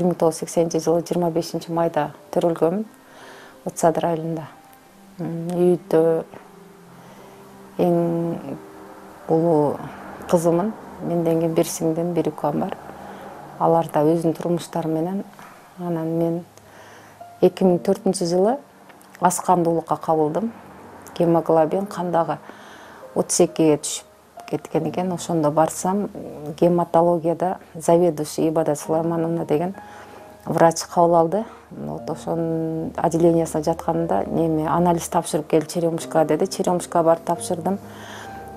1980-жылы 25-майда төрөлгөнмүн, Отсадыр айылында. Үйдө эң улуу кызымын. Менден кийин бир сиңдим, бир укам бар. Алар да өзүнүн турмуштары менен. Анан мен 2004-жылы аз кандуулукка кабылдым. Гемоглобин кандагы 32-ге түшүп кеткен экен. Ошондо барсам, гематологияда заведующий Ибадат Сулаймановна деген врач кабыл алды. Ошонун отделениясына жатканында анализ тапшырып кел, черемушка деди. Черемушка барып тапшырдым.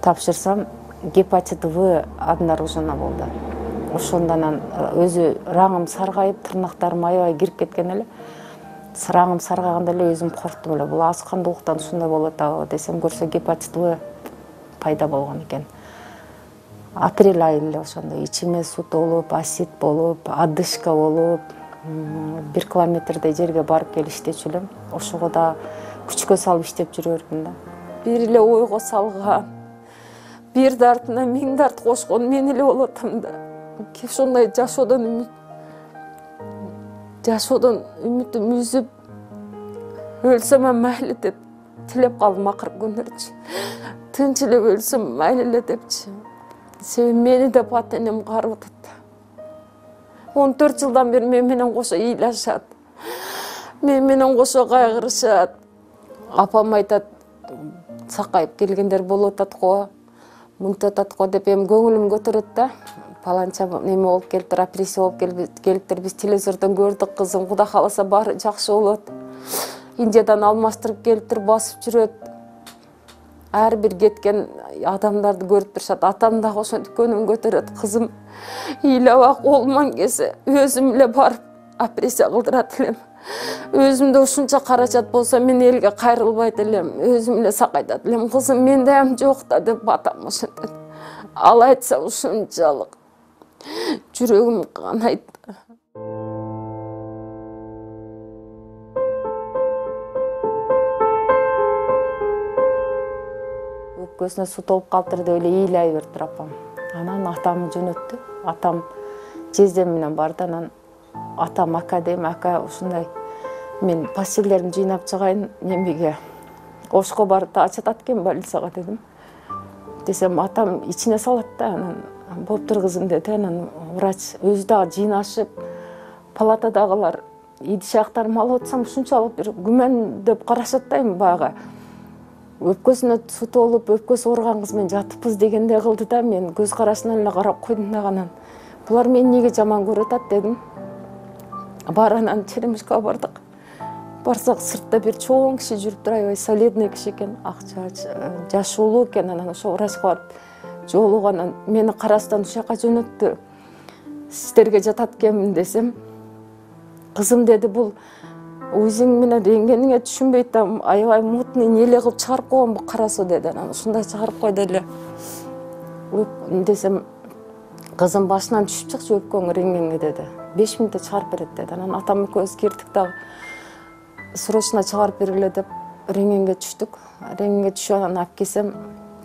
Тапшырсам, гепатит В обнаружено болду. Ошондон өзү раңым саргайып, тырнактарым аябай кирип кеткен эле. Раңым саргаганда эле өзүм корктум эле. Бул аз кандуулуктан ушундай болуп атабы десем, көрсө гепатит В пайда болгон экен. Апрель айы эле ошондо ичиме суу толуп, асит болуп, одышка болуп, 1 километрдей жерге барып келиштечү элем. Ошого да күчкө салып иштеп жүрө бердим да. Бир эле ойго салган, бирди артына 1000 дарт кошкон мен эле болуп атам да. Ошондой жашоодон үмүтүм үзүп, өлсөм мейли деп тилеп калдым акыркы күндөрчү. Тынч эле өлсөм мейли эле депчи. Себеби мени деп ата энем карып атат. 14 жылдан бери мен менен кошо ыйлашат. Мен менен кошо кайгырышат. Апам айтат, сакайып келгендер болуп атат го, мынтип атат го деп эми көңүлүм көтөрөт да. Паланча неме болуп келиптир, опрессия болуп келиптир. Биз телевизордон көрдүк, кызым, Кудай кааласа баары жакшы болот. Индиядан алмаштырып келиптир, басып жүрөт. Ар бир кеткен адамдарды көрүп турушат. Атам дагы ошентип көңүл көтөрөт. Кызым, ыйлабак, колуман келсе өзүм эле барып опрессия кылдырат элем. Өзүмдө ушунча каражат болсо мен элге кайрылбайт элем. Өзүм эле сакайтат элем. Кызым, менде ам жок да деп атам ошентет. Ал айтса ушунчалык жүрөгүм канайт. Өпкөсүнө суу толуп калыптыр деп эле ыйлай бериптир апам. Анан атамды жөнөттү. Атам жездем менен барды. Анан атам ака дейм, ака ушундай мен постельдеримди жыйнап чыгайын, немеге Ошко барып да ачатат экен больницага дедим. Десем, атам ичине салат да, анан болуптур кызым деди. Анан врач өзү дагы жыйнашып, палатадагылар идиш аяктарымды алып атсам ушунчалык бир күмөндөп карашат да, эми баягы өпкөсүнө суу толуп, өпкөсү ооруган кыз менен жатыппыз дегендей кылды да, мен көз карашынан эле карап койдум да. Анан булар мени эмнеге жаман көрүп атат дедим. Бар, анан черемушкага бардык. Барсак, сыртта бир чоң киши жүрүптүр, аябай солидный киши экен, акча жашуулуу экен. Анан ошо врачка барып жолуган, мени карастан ушул жака жөнөттү. Сиздерге жатат экенмин десем, кызым деди, бул өзүң менен рентгениңе түшүнбөйт да, аябай мутный эле кылып чыгарып койгон бул кара суу деди. Анан ушундай чыгарып койду эле. Десем, кызым, башынан түшүп чыкчы өпкөң рентгенге деди. 5 мүнөттө чыгарып берет деди. Анан атам экөөбүз кирдик дагы. Срочно чыгарып бергиле деп рентгенге түштүк. Рентгенге түшүп анан алып келсем,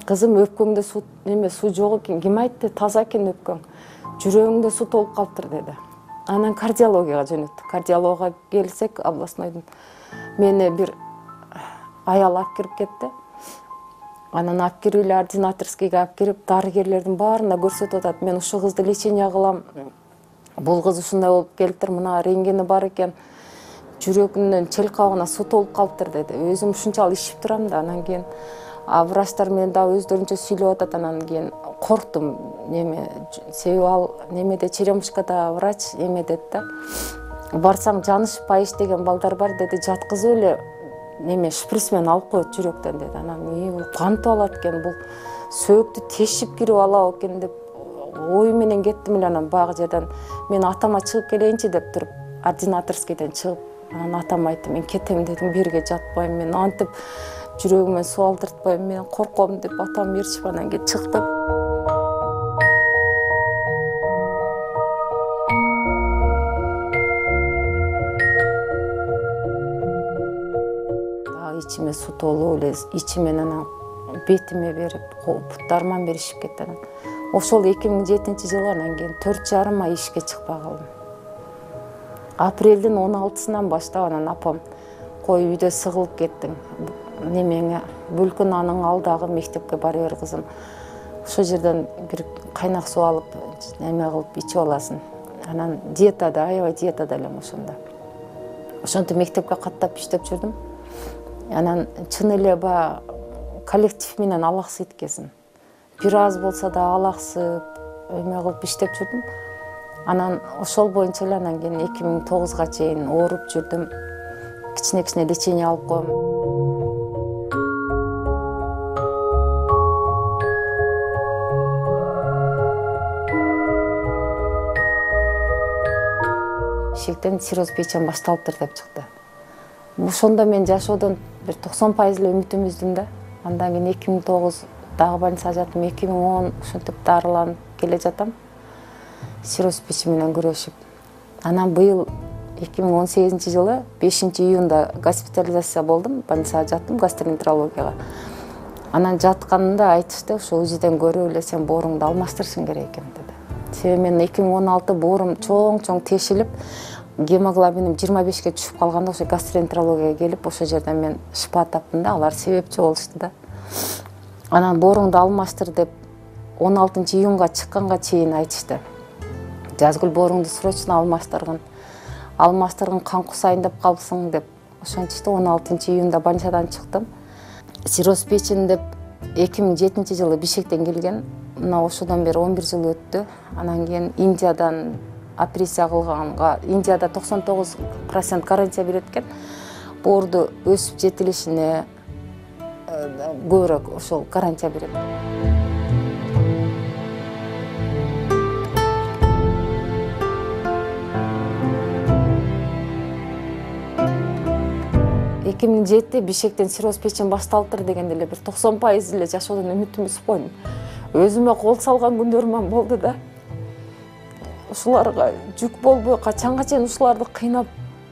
кызым, өпкөңдө суу жок экен. Ким айтты? Таза экен өпкөң. Жүрөгүңдө суу толуп калыптыр деди. Анан кардиологияга жөнөттү. Кардиологга келсек, областнойдун мени бир аял алып кирип кетти. Анан алып кирип эле ординаторскийге алып кирип, дарыгерлердин баарына көрсөтүп атат. Мен ушул кызды лечение кылам. Бул кыз ушундай болуп келиптир, мына рентгени бар экен. Жүрөгүнөн чел кабыгына суу толуп калыптыр деди. Өзүм ушунчалык ишип турам да. Анан кийин врачтар менен дагы өздөрүнчө сүйлөп атат. Анан кийин корктум. Себеби ал немеде черемушкада врач деди да. Барсаң, жанышпай иштеген балдар бар деди. Жаткызып эле шприц менен алып коет жүрөктөн деди. Анан бул кантип алат экен, бул сөөктү тешип кирип алабы экен деп ой менен кеттим эле. Анан баягы жерден мен атама чыгып келейинчи деп туруп, ординаторскийден чыгып, анан атам айтты, мен кетем дедим, берге жатпайм, мен антип жүрөгүмө суу алдыртпайм, мен корком деп атам ээрчип анан кийин чыктым. ичиме суу толуп эле, ичимен анан бетиме берип, буттарыма беришип кетти. Анан ошол 2007-жылы анан кийин 4,5 ай ишке чыкпай калдым. Апрелдин 16-сынан баштап анан апам кой үйдө сыгылып кеттиң. Немеңе Бүлкүн аның алдагы мектепке бара бер кызым. Ошол жерден бир кайнак суу алып, неме кылып ичип аласың. Анан диетада, аябай диетада элем ошондо. Ошентип мектепке каттап иштеп жүрдүм. Анан чын эле баягы коллектив менен алаксыйт экенсиң. Бир аз болсо да алаксып, эме кылып иштеп жүрдүм. Анан ошол боюнча эле анан кийин 2009-га чейин ооруп жүрдүм. Кичине лечение алып коем. Ишектен цирроз печени башталыптыр деп чыкты. Ошондо мен жашоодон бир 90% эле үмүтүм үздүм да. Андан кийин 2009 дагы больницага жаттым, 2010 ошентип дарыланып келе жатам. Цирроз печени менен күрөшүп. Анан быйыл 2018-жылы 5-июнда госпитализация болдум, больницага жаттым гастроэнтерологияга. Анан жатканымда айтышты, ошо УЗИден көрүп эле сен бооруңду алмаштырышың керек экен деди. Себеби мен 2016 боорум чоң тешилип, гемоглобиним 25-ке түшүп калганда ошо гастроэнтерологияга келип, ошол жерден мен шифа таптым да, алар себепчи болушту да. Анан бооруңду алмаштыр деп 16-июнга чыкканга чейин айтышты. Жазгүл бооруңду срочно алмаштыргын кан кусайын деп калсың деп ошентишти. 16-июнда больницадан чыктым. Цирроз печени деп 2007-жылы Бишкектен келген. Мына ошодон бери 11 жыл өттү. Анан кийин Индиядан операция кылганга, Индияда 99% гарантия берет экен. Боорду өсүп жетилишине көбүрөөк ошол гарантия берет. Бишкектен цирроз печени башталыптыр дегенде эле бир 90% эле жашоодон үмүтүм үзүп койдум. Өзүмө кол салган күндөрүм болду да. Ушуларга жүк болбой качанга чейин ушуларды кыйнап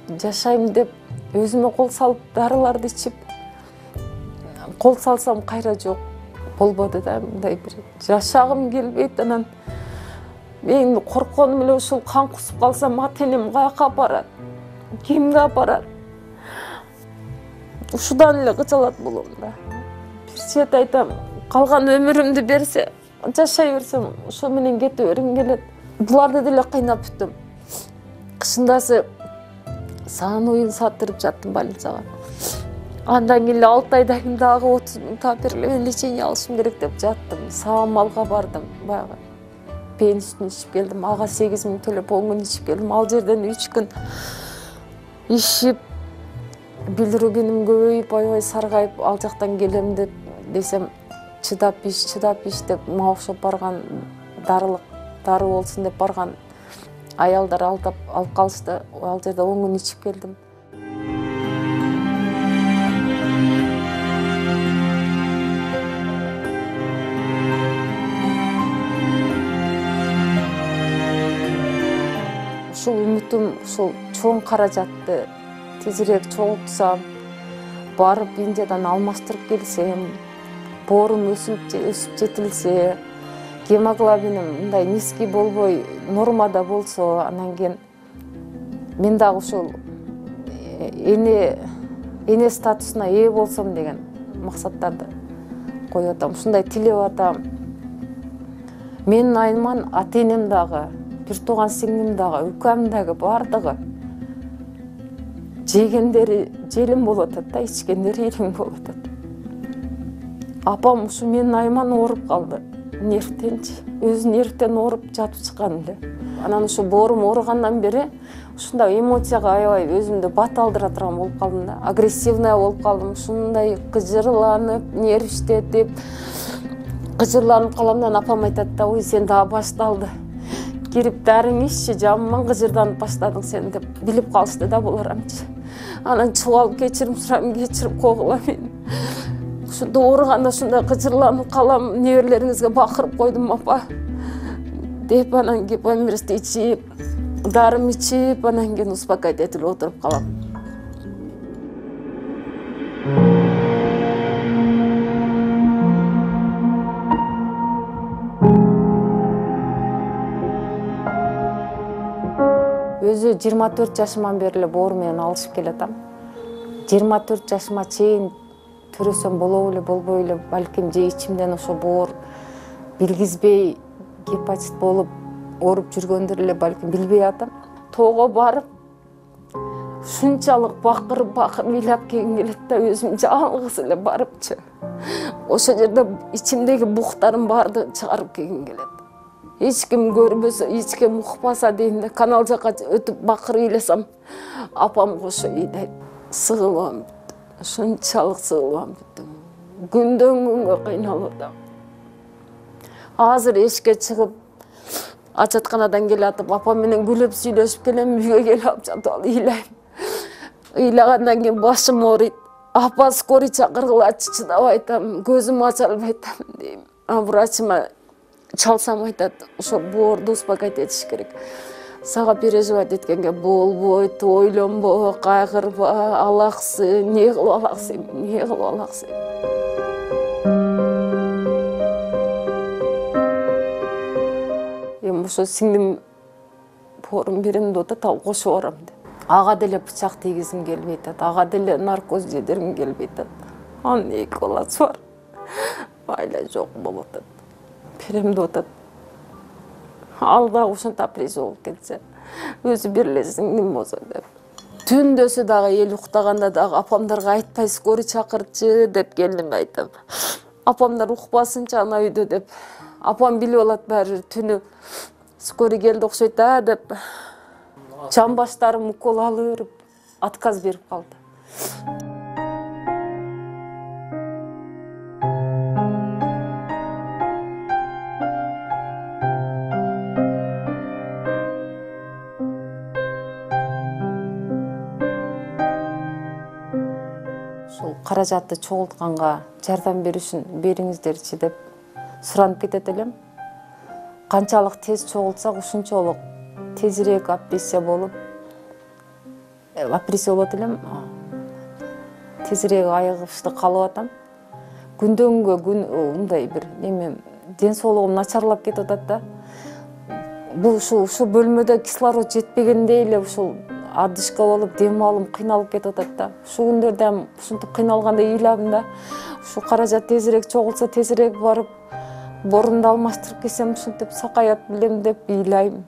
жашайм деп өзүмө кол салып дарыларды ичип, кол салсам кайра жок болбоду да, мындай бир жашагым келбейт. Анан мен коркконум эле ушул кан кусуп калсам ата-энем каяка апарат, кимге апарат? Ушудан эле кычалат болом да. Бир чет айтам, калган өмүрүмдү берсе, жашай берсем, ошо менен кете бергим келет. Буларды деле кыйнап бүттүм. Кышындасы саан уюн саттырып жаттым больницага. Андан кийин 6 айдан кийин дагы 30 000 таап бериле, лечение алышым керек деп жаттым. Саамалга бардым, баягы пенистин ичип келдим. Ага 8 000 төлөп 10 күн ичип келдим. Ал жерден 3 күн ишип, билирубиним көбөйүп, аябай саргайып, ал жактан келем деп десем, чыдап иш деп мага окшоп барган дары болсун деп барган аялдар алып калышты. Ал жерде 10 күн ичип келдим. Ушул үмүтүм, ушул чоң каражатты тезирээк чогултсам, барып Индиядан алмаштырып келсем, боорум өсүп жетилсе, гемоглобиним мындай низкий болбой, нормада болсо, анан кийин мен дагы ушул эне статусуна ээ болсом деген максаттарды коюп атам. Ушундай тилеп атам. Менин айныман ата-энем дагы, бир тууган сиңдим дагы, укам дагы бардыгы жегендери желим болуп атат да, ичкендери илиң болуп атат. Апам ушу менин айман ооруп калды. Нервтенчи. Өзү нервтен ооруп жатып чыккан эле. Анан ушу боорум ооругандан бери ушундай эмоцияга аябай өзүмдү бат алдыра турган болуп калдым да. Агрессивная болуп калдым. Ушундай кыжырланып, нервиштетип, кыжырланып калам да, апам айтат да, ой сен дагы башталды. Кирип дарың иччи, жаман кыжырданып баштадың сен деп билип калышты да буларамчы. Анан чыгып алып кечирим сурайм, кечирип койгула мени. Ушунда ооруганда ушундай кыжырланып калам, неберелериңизге бакырып койдум апа деп, анан кеп эмиристи ичип, дарым ичип, анан кийин успокоить отуруп калам. Өзү 24 жашыман бери эле боору менен алышып келатам. 24 жашыма чейин төрөсөм болобу эле болбой эле, балким же ичимден ошо боор билгизбей гепатит болуп ооруп жүргөндөр эле балким билбей атам. Тоого барып ушунчалык бакырып ыйлап келгим келет да, өзүм жалгыз эле барыпчы. Ошол жерде ичимдеги буктардын баардыгын чыгарып келгим келет. Эч ким көрбөсө, эч ким укпаса дейм да, канал жака өтүп бакырып ыйласам, апам кошо ыйлайт. Сыгылам бүттүм, ушунчалык сыгылам бүттүм. Күндөн күнгө кыйналып атам. Азыр эшикке чыгып, ажатканадан келатып, апам менен күлүп сүйлөшүп келем, үйгө келип алып жатып алып ыйлайм. Ыйлагандан кийин башым ооруйт. Апа, скорый чакыргылачы, чыдабай атам, көзүм ача албай атам дейм. Врачыма чалсам айтат, ошо боорду успокоить этиш керек. Сага переживать эткенге болбойт, ойлонбо, кайгырба, алаксың, эмне кылып алаксың. Эми ошо сиңдим боорун берем деп атат, ал кошуп барам деп. Ага деле бычак тийгизим келбей атат, ага деле наркоз жедиргим келбей атат. Анын 2 баласы бар. Айла жок болуп атат. Берем деп атат. Ал дагы ушунта апресия болуп кетсе, өзү берлесиң нем болсо деп. Түндөсү дагы эл уктаганда дагы апамдарга айтпай скорый чакырчы деп келиниме айтам. Апамдар укпасынчы ана үйдө деп. Апам билип алат баары түнү скорый келди окшойт да деп. Жамбаштарым укол алып берип, отказ берип калды. Ушул каражатты чогултканга жардам бериңиздерчи деп суранып кетет элем. Канчалык тез чогултсак, ушунчалык тезирээк апрессия болот элем. Тезирээк айыгышты каалап атам. Күндөн күнгө мындай бир неме, ден соолугум начарлап кетип атат да. Бул ушул бөлмөдө кислород жетпегендей эле ушул адышка болуп, дем алым кыйналып кетип атат да. Ушул күндөрдө ушинтип кыйналгандай ыйладым да. Ушу каражат тезирээк чогулса, тезирээк барып, борунду алмаштырып келсем, ушинтип сакаят билем деп ыйлайм.